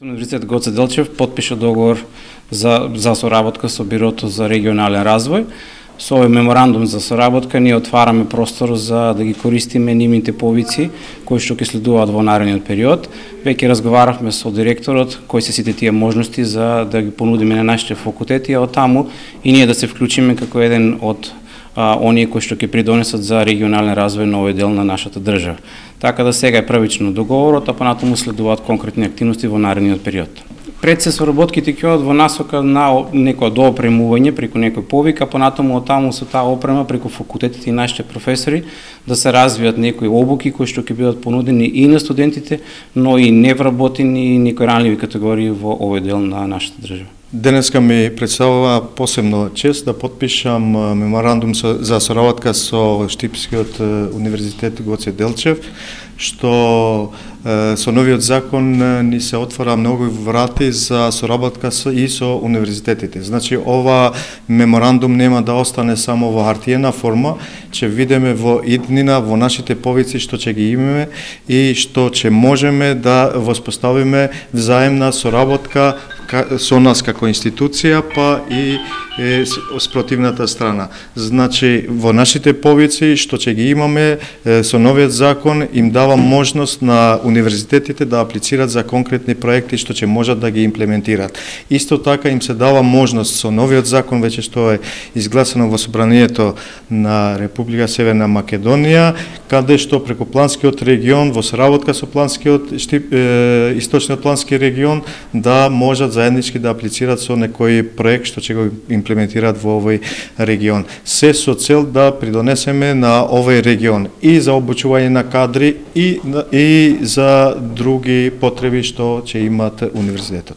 Универзитет Гоце Делчев потпиша договор за соработка со Бирото за регионален развој. Со овој меморандум за соработка ние отвараме простор за да ги користиме нивните повици кои што ќе следуваат во наредниот период. Веќе разговаравме со директорот кои се сите тие можности за да ги понудиме на нашите факултети, а од таму и ние да се вклучиме како еден од оние кои што ќе придонесат за регионален развој на овој дел на нашата држава. Така да сега е првично договорот, а понатаму следуваат конкретни активности во наредниот период. Пред се соработките ќе одат во насока на некоја доопремување преку некој повик, а понатаму од таму со таа опрема преку факултетите и нашите професори да се развијат некои обуки кои што ќе бидат понудени и на студентите, но и невработени и некои ранливи категории во овој дел на нашата држава. Денеска ми представува посебно чест да потпишам меморандум за соработка со Штипскиот универзитет Гоце Делчев, што со новиот закон ни се отвора многу врати за соработка и со универзитетите. Значи, ова меморандум нема да остане само во хартиена форма, ќе видиме во иднина, во нашите повици што ќе ги имаме и што ќе можеме да воспоставиме взаемна соработка со нас како институција, па и спротивната страна. Значи, во нашите повици што ќе ги имаме со новиот закон им дава можност на универзитетите да аплицираат за конкретни проекти што ќе можат да ги имплементираат. Исто така им се дава можност со новиот закон веќе што е изгласано во собранието на Република Северна Македонија, каде што преку планскиот регион во соработка со планскиот источниот плански регион да можат заеднички да аплицираат со некој проект што ќе го имплементираат во овој регион. Се со цел да придонесеме на овој регион и за обучување на кадри и за други потреби што ќе имат универзитетот.